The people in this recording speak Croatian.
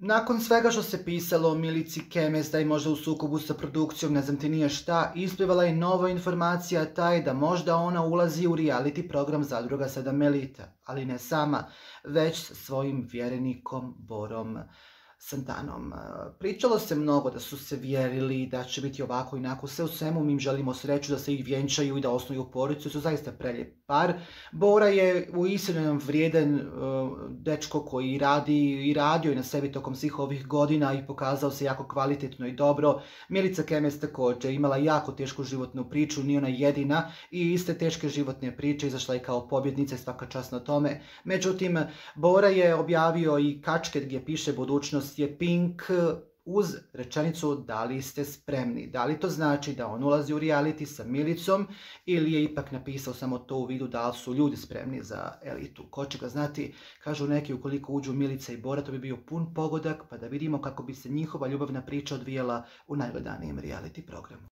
Nakon svega što se pisalo o Milici Kemes da je možda u sukobu sa produkcijom, ne znam ti nije šta, isplivala je nova informacija taj da možda ona ulazi u reality program Zadruga 7 Elita, ali ne sama, već sa svojim vjerenikom Borom Santanom. Pričalo se mnogo da su se vjerili, da će biti ovako i onako, sve u svemu mi im želimo sreću da se ih vjenčaju i da osnuju porodicu, su zaista prelijep par. Bora je uistinu vrijedan dečko koji radi i radio je na sebi tokom svih ovih godina i pokazao se jako kvalitetno i dobro. Milica Kemes također imala jako tešku životnu priču, nije ona jedina i iste teške životne priče izašla je kao pobjednica i svaka čast na tome. Međutim, Bora je objavio i kačket gdje piše budućnost je pink uz rečenicu da li ste spremni. Da li to znači da on ulazi u reality sa Milicom ili je ipak napisao samo to u vidu da li su ljudi spremni za elitu. Ko će ga znati, kažu neki ukoliko uđu Milica i Bora to bi bio pun pogodak pa da vidimo kako bi se njihova ljubavna priča odvijala u najgledanijem reality programu.